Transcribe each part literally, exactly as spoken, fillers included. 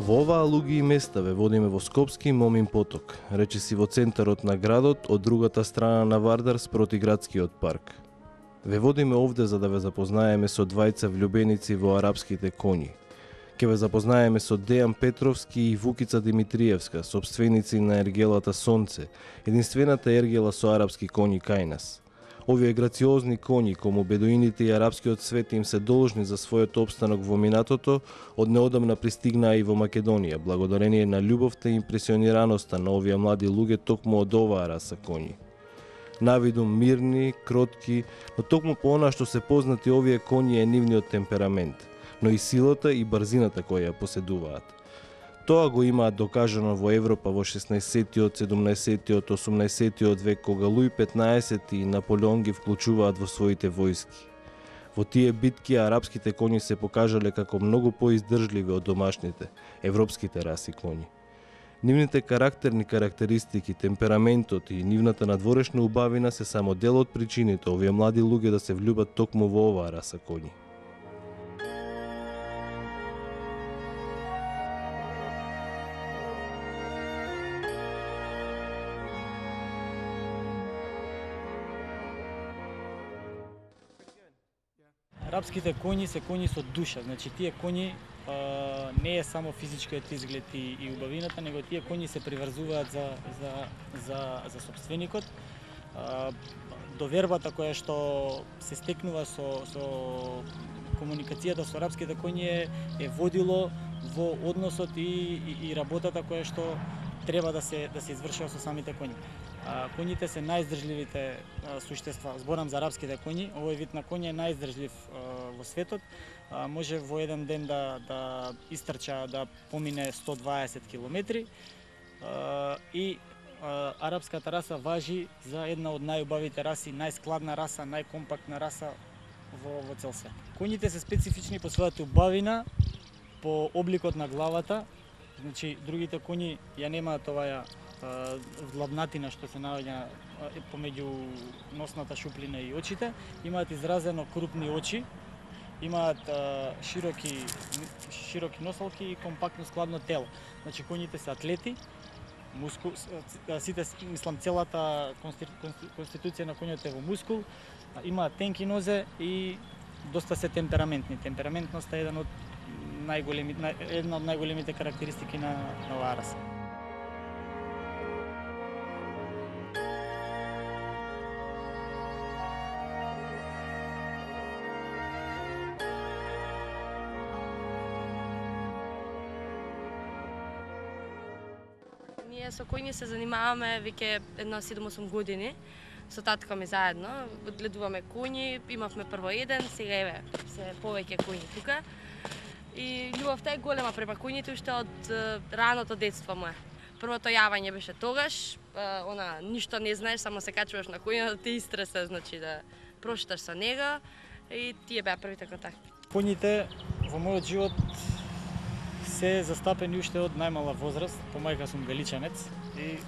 Во оваа луѓе и места ве водиме во Скопски Момин поток, речиси во центарот на градот, од другата страна на Вардар спроти градскиот парк. Ве водиме овде за да ве запознаеме со двајца влюбеници во арапските коњи. Ке ве запознаеме со Дејан Петровски и Вукица Димитриевска, собственици на ергелата Сонце, единствената ергела со арапски коњи кај нас. Овие грациозни коњи, кому бедуините и арапскиот свет им се должни за својот опстанок во минатото, од неодамна пристигнаа и во Македонија, благодарение на љубовта и импресионираноста на овие млади луѓе токму од оваа раса коњи. Навидум мирни, кротки, но токму по она што се познати овие коњи е нивниот темперамент, но и силата и брзината која ја поседуваат. Тоа го имаат докажано во Европа во шеснаесеттиот, седумнаесеттиот, осумнаесеттиот век, кога Луј петнаесети и Наполеон ги вклучуваат во своите војски. Во тие битки арапските коњи се покажале како многу поиздржливи од домашните, европските раси коњи. Нивните карактерни карактеристики, темпераментот и нивната надворешна убавина се само дел од причините овие млади луѓе да се влюбат токму во оваа раса коњи. Арапските коњи се коњи со душа, значи тие коњи а, не е само физичкиот изглед и, и убавината, него тие коњи се приврзуваат за, за, за, за собственикот. А, довербата која што се стекнува со, со комуникацијата со арапските коњи е, е водило во односот и, и, и работата која што треба да се, да се извршува со самите коњи. А, коњите се најиздржливите а, суштества. Зборам за арапските коњи. Овој вид на коњ е најиздржлив а, во светот. А, може во еден ден да, да истрча, да помине сто дваесет километри. А, и а, арапската раса важи за една од најубавите раси, најскладна раса, најкомпактна раса во, во цел свет. Коњите се специфични по својата убавина, по обликот на главата. Значи, другите коњи ја немаат оваа длабнатина што се наоѓа помеѓу носната шуплина и очите. Имаат изразено крупни очи, имаат а, широки, широки носалки и компактно складно тело. Значи, коњите се атлети, мускул, сите, мислам, целата конституција на коњот е во мускул, имаат тенки нозе и доста се темпераментни. Темпераментноста е еден од најголеми, една од најголемите карактеристики на, на оваа раса. Ние со коњи се занимаваме веќе едно седум-осум години. Со татко ми заедно одгледуваме коњи, имавме прво еден, сега еве се повеќе коњи тука. И љубовта е голема према коњите уште од раното детство мое. Првото јавање беше тогаш, она ништо не знаеш, само се качуваш на коња да те истресе, значи да прошеташ со него и тие беа првите контакти. Коњите во мојот живот се застапени уште од најмала возраст. По мајка сум галичанец и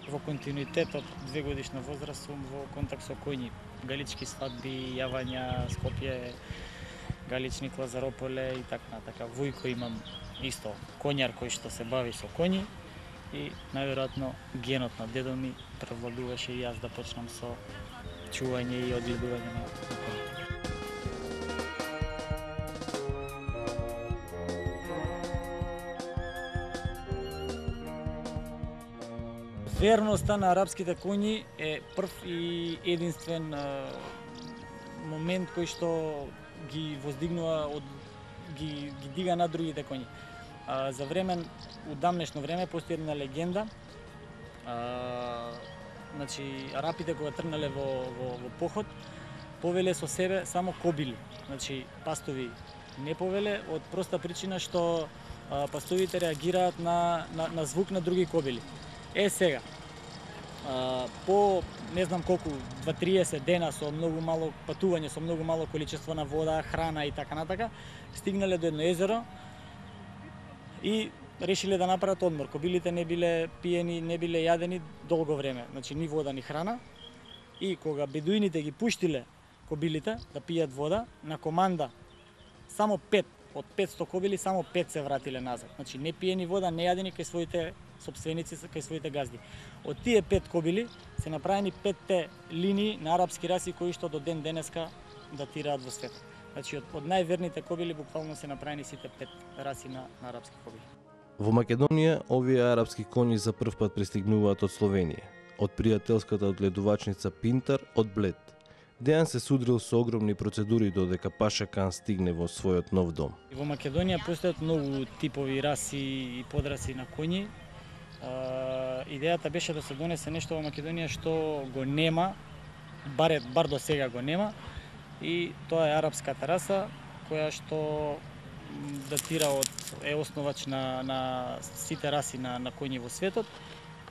во континуитет од две годишна возраст сум во контакт со коњи. Галички свадби, јавања, Скопје, Галични, Лазарополе и така натака. Вујко имам исто коњар кој што се бави со коњи и најверојатно генот на дедо ми превладуваше и јас да почнам со чување и одгледување на коњи. Верноста на арапските коњи е прв и единствен момент кој што ги воздигнува од ги, ги дига над другите коњи. А, за време, у дамнешно време, постои една легенда. А, значи, арапите кога тргнале во, во, во поход, повеле со себе само кобили. Значи, пастови не повеле, од проста причина што а, пастовите реагираат на, на, на звук на други кобили. Е, сега, а, по не знам колку, дваесет дена со многу мало патување, со многу мало количество на вода, храна и така натака, стигнале до едно езеро и решиле да направат одмор. Кобилите не биле пиени, не биле јадени долго време, значи ни вода, ни храна. И кога бедуините ги пуштиле кобилите да пијат вода, на команда само пет од петсто кобили, само пет се вратиле назад. Значи не пиени вода, не јадени кај своите сопственици, кај своите газди. Од тие пет кобили се направени петте линии на арапски раси кои што до ден денеска датираат во светот. Значи од, од најверните кобили буквално се направени сите пет раси на, на арапски кобили. Во Македонија, овие арапски коњи за прв пат пристигнуваат од Словенија, од пријателската одледувачница Пинтар од Блед. Дејан се судрил со огромни процедури додека Паша Кан стигне во својот нов дом. Во Македонија постојат многу типови раси и подраси на коњи. А, идејата беше да се донесе нешто во Македонија што го нема, бар, бар до сега го нема, и тоа е арапската раса, која што датира од е основач на, на сите раси на, на коњи во светот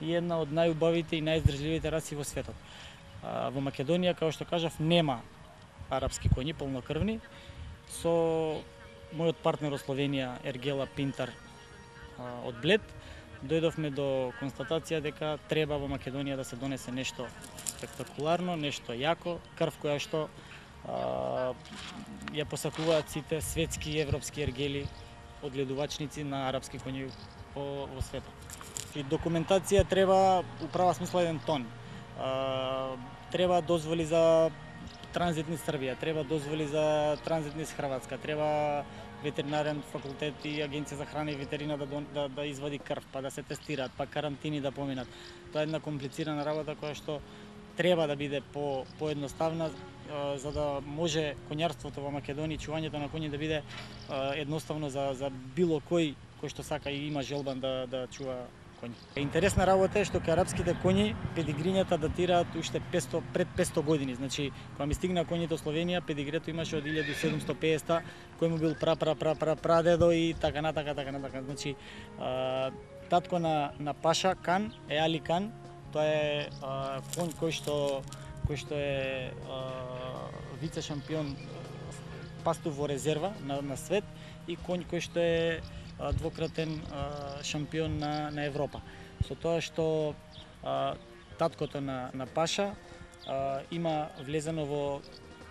и една од најубавите и најиздржливите раси во светот. А, во Македонија, како што кажав, нема арапски коњи полнокрвни. Со мојот партнер од Словенија, Ергела Пинтар а, од Блед, дојдовме до констатација дека треба во Македонија да се донесе нешто спектакуларно, нешто јако, крв која што а, ја посакуваат сите светски и европски ергели одледувачници на арапски коњи во, во светот. И документација треба у права смисла еден тон. А, треба дозволи за транзит низ Србија, треба дозволи за транзит низ Хрватска, треба ветеринарен факултет и агенција за храна и ветерина да, да, да извади крв, па да се тестираат, па карантини да поминат. Тоа е една комплицирана работа која што треба да биде по поедноставна, за да може коњарството во Македонија, чувањето на коњи да биде едноставно за за било кој кој што сака и има желбан да да чува коњи. Интересна работа е што кај арапските коњи педигрињата датираат уште петсто пред петсто години. Значи, кога ми стигна коњите од Словенија, педигрето имаше од илјада седумстотини и педесета, кој му бил пра пра пра пра прадедо и така натака така натака. Значи, а, татко на на Паша Кан е Али Кан. Тоа е а, конј кој што кој што е вице шампион пастов во резерва на, на свет и конј кој што е а, двократен а, шампион на, на Европа. Со тоа што а, таткото на, на Паша а, има влезено во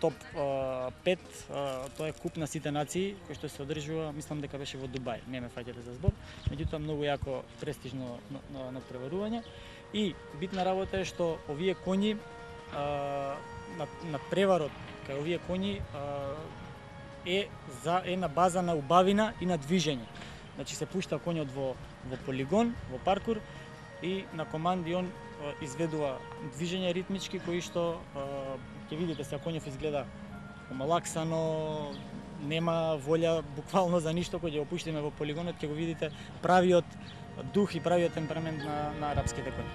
топ а, пет, а, тоа е куп на сите нации кој што се одржува, мислам дека беше во Дубај, не ме фаќате за збор, меѓутоа многу јако престижно натпреварување. И битна работа е што овие коњи а, на, на преварот кај овие коњи а, е за е на база на убавина и на движење. Значи се пушта коњот во во полигон, во паркур и на команди он а, изведува движење ритмички кои што ќе видите сега коњов изгледа омалаксано, нема волја буквално за ништо. Кога ќе го пуштиме во полигонот ќе го видите правиот дух и правиот темперамент на, на арапските коњи.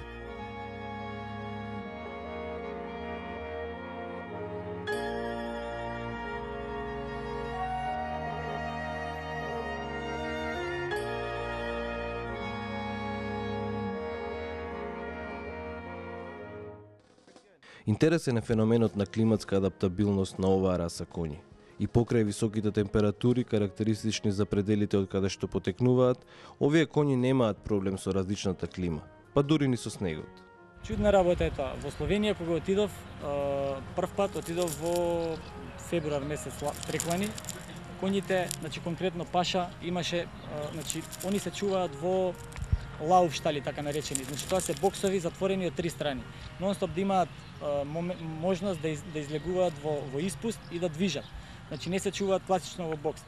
Интересен е феноменот на климатска адаптабилност на оваа раса коњи. И покрај високите температури, карактеристични за пределите од каде што потекнуваат, овие коњи немаат проблем со различната клима, па дури ни со снегот. Чудна работа е тоа. Во Словенија кога отидов, прв пат отидов во февруар месец треклани, коњите, значи конкретно Паша имаше, значи они се чуваат во лауф штали, така наречени. Значи тоа се боксови затворени од три страни. Нонстоп да имаат можност да, из, да излегуваат во, во испуст и да движат. Значи не се чуваат класично во бокс.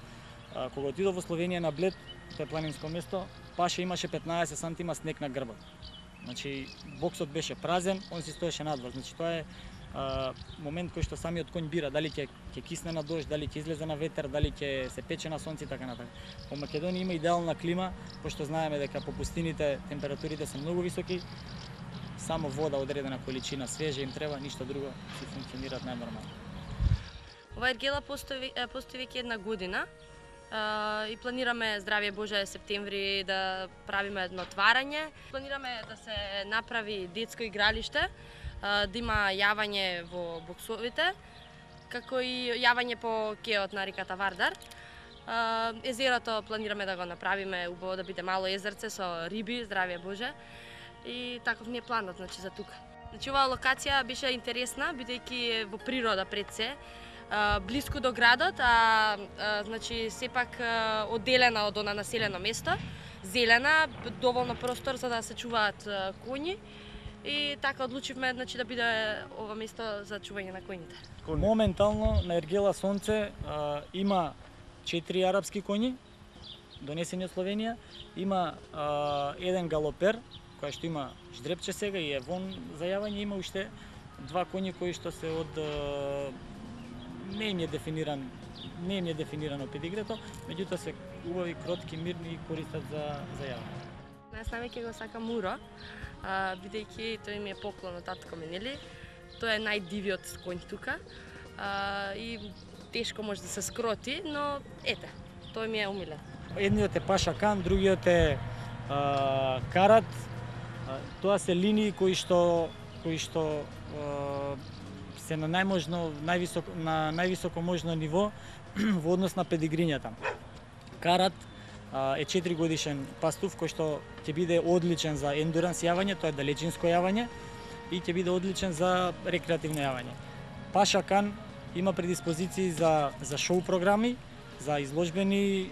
А, кога отидов во Словенија на Блед, тоа е планинско место, Паша имаше петнаесет сантима снег на грбот. Значи боксот беше празен, он си стоеше надвор. Значи тоа е а, момент кој што самиот конј бира дали ќе ќе кисне на дожд, дали ќе излезе на ветер, дали ќе се пече на сонце и така натаму. Во Македонија има идеална клима, пошто знаеме дека по пустините температурите се многу високи. Само вода, одредена количина свежа им треба, ништо друго, си функционираат најнормално. Ова ергела постои постои веќе една година. Uh, и планираме, здравје Боже, септември да правиме едно отварање. Планираме да се направи детско игралиште, uh, да има јавање во боксовите, како и јавање по кеот на реката Вардар. Uh, езерото планираме да го направиме, убаво да биде мало езерце со риби, здравје Боже. И таков ни е планот, значи, за тука. Значи, оваа локација беше интересна, бидејќи во природа пред се, блиску до градот, а, а значи сепак одделена од она населено место, зелена, доволно простор за да се чуваат коњи и така одлучивме, значи, да биде ова место за чување на коњите. Моментално на ергела Сонце а, има четири арапски коњи донесени од Словенија, има а, еден галопер кој што има ждрепче сега и е вон за јавање, има уште два коњи кои што се од не им е дефиниран, не им е дефинирано педигрето, меѓутоа се убави, кротки, мирни и користат за за јавање. Јас највеќе го сакам Муро, а, бидејќи тој ми е поклон од татко ми, нели? Тој е најдивиот конј тука. А, и тешко може да се скроти, но ете, тој ми е умилен. Едниот е Паша Кан, другиот е а, Карат. А, тоа се линии кои што кои што а, се на најможно највисоко на највисоко можно ниво во однос на педигрињата. Карат а, е четири годишен пастув кој што ќе биде одличен за ендуранс јавање, тоа е далечинско јавање и ќе биде одличен за рекреативно јавање. Паша Кан има предиспозиции за за шоу програми, за изложбени е,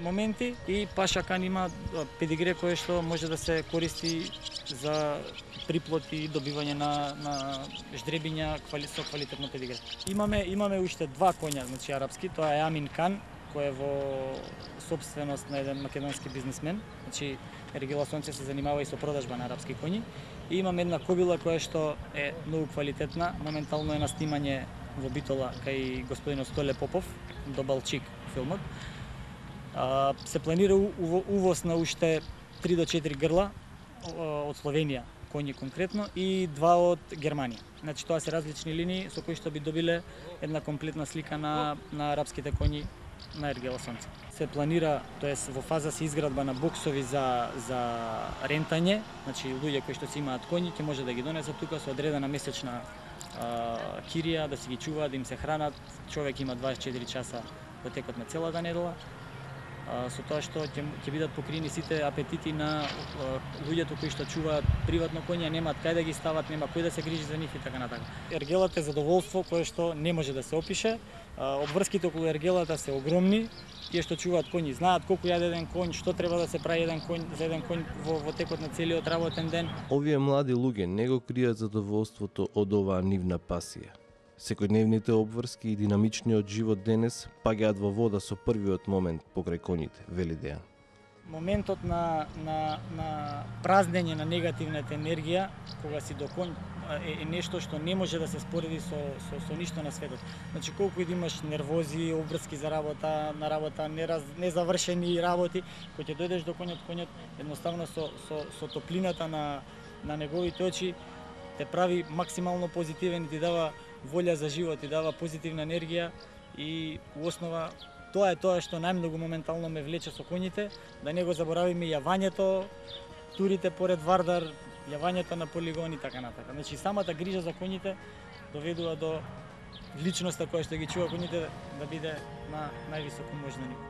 моменти и Паша Кан има педигре кое што може да се користи за приплод и добивање на на ждребиња квали, со квалитетно педигре. Имаме имаме уште два коња, значи арапски, тоа е Амин Кан, кој е во собственост на еден македонски бизнисмен. Значи Ергела Сонце се занимава и со продажба на арапски коњи. И имаме една кобила која што е многу квалитетна, моментално е на снимање во Битола кај господинот Столе Попов, до Балчик филмот. А, се планира увоз на уште три до четири грла од Словенија, коњи конкретно, и два од Германија. Значи тоа се различни линии со кои што би добиле една комплетна слика на на арапските коњи на Ергела Сонце. Се планира, тоест во фаза се изградба на боксови за за рентање, значи луѓе кои што си имаат коњи ќе може да ги донесат тука со одредена месечна а, кирија, да си ги чуваат, да им се хранат. Човек има дваесет и четири часа во текот на целата недела. А, со тоа што ќе ќе бидат покрини сите апетити на а, луѓето кои што чуваат приватно коња, немаат кај да ги стават, нема кој да се грижи за нив и така натака. Ергелот е задоволство кое што не може да се опише. Обврските околу ергелата се огромни. Тие што чуваат коњи знаат колку јаде еден конј, што треба да се прави еден конј за еден конј во, во текот на целиот работен ден. Овие млади луѓе не го кријат задоволството од оваа нивна пасија. Секојдневните обврски и динамичниот живот денес паѓаат во вода со првиот момент покрај коњите, вели Дејан. Моментот на, на, на празнење на негативната енергија, кога си до конј, е, е нешто што не може да се спореди со, со, со ништо на светот. Значи, колку и да имаш нервози, обврски за работа, на работа, нераз, незавршени работи, кога ќе дојдеш до коњот, коњот едноставно со, со, со топлината на, на неговите очи те прави максимално позитивен и ти дава волја за живот, ти дава позитивна енергија и во основа тоа е тоа што најмногу моментално ме влече со коњите, да не го заборавиме јавањето, турите поред Вардар, јавањето на полигони и така натака. Значи самата грижа за коњите доведува до личноста која што ги чува коњите да биде на највисоко можно ниво.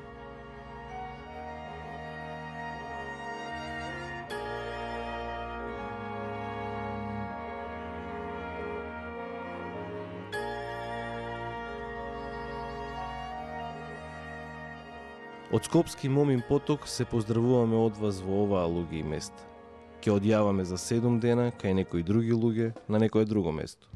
Од Скопски Момин поток се поздравуваме од вас во оваа луѓе и места. Ќе одјаваме за седум дена кај некои други луѓе на некое друго место.